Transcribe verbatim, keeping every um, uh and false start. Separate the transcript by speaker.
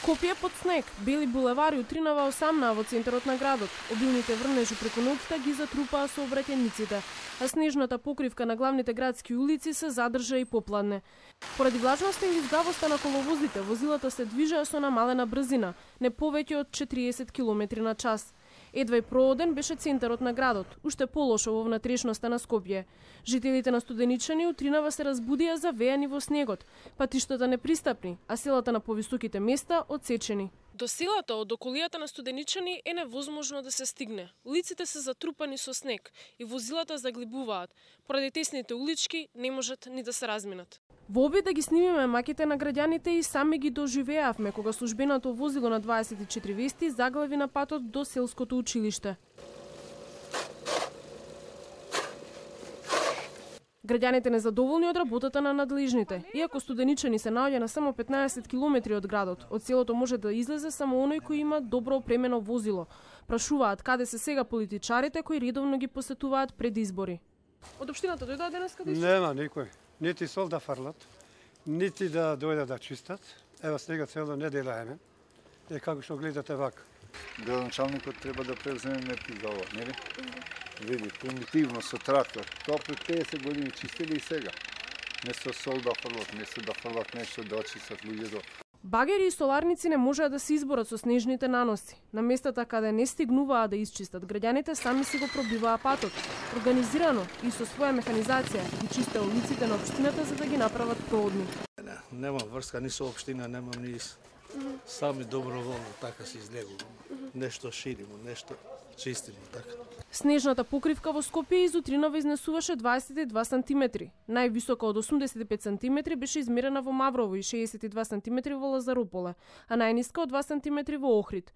Speaker 1: Скопје под снег, бели булевари утринава осамна во центарот на градот. Обилните врнежи преку ноќта ги затрупаа сообраќајниците, а снежната покривка на главните градски улици се задржа и попладне. Поради влажноста и лизгавоста на коловозите, возилата се движеа со намалена брзина, не повеќе од четириесет километри на час. Едва и прооден беше центарот на градот, уште полошо во внатрешноста на Скопје. Жителите на Студеничани утринава се разбудија завејани во снегот, патиштата непристапни, а селата на повисоките места одсечени. До селата од околијата на Студеничани е невозможно да се стигне. Улиците се затрупани со снег и возилата заглибуваат. Поради тесните улички не можат ни да се разминат. Во обид да ги снимиме маките на граѓаните и сами ги доживеавме кога службеното возило на дваесет и четири вести заглави на патот до селското училиште. Граѓаните незадоволни од работата на надлежните. Иако Студеничани се наоѓа на само петнаесет километри од градот, од селото може да излезе само оној кој има добро опремено возило. Прашуваат каде се сега политичарите кои редовно ги посетуваат пред избори. Од општината дојдоа денес каде?
Speaker 2: Нема никој. Нити сол да фрлат, нити да дојдат да чистат. Ева сега цело недела еме. Е како што гледате вака.
Speaker 3: Градоначалникот треба да превземе мерки за ова, нели? Види, примитивно со трактор. Тоа пред петдесет години чистили и сега. Не со сол да фрлат, не со да фрлат нешто да очистат луѓето.
Speaker 1: Багери и соларници не можеа да се изборат со снежните наноси. На местата каде не стигнуваа да исчистат, граѓаните сами си го пробиваа патот. Организирано и со своја механизација ги чистеа улиците на општината за да ги направат проодни.
Speaker 4: Не, нема врска ни со општина, немам ни сами доброволно така се излегуваме. Нешто ширимо, нешто чистимо така.
Speaker 1: Снежната покривка во Скопје изутринава изнесуваше дваесет и два сантиметри. Највисока од осумдесет и пет сантиметри беше измерена во Маврово и шеесет и два сантиметри во Лазарополе, а најниска од два сантиметри во Охрид.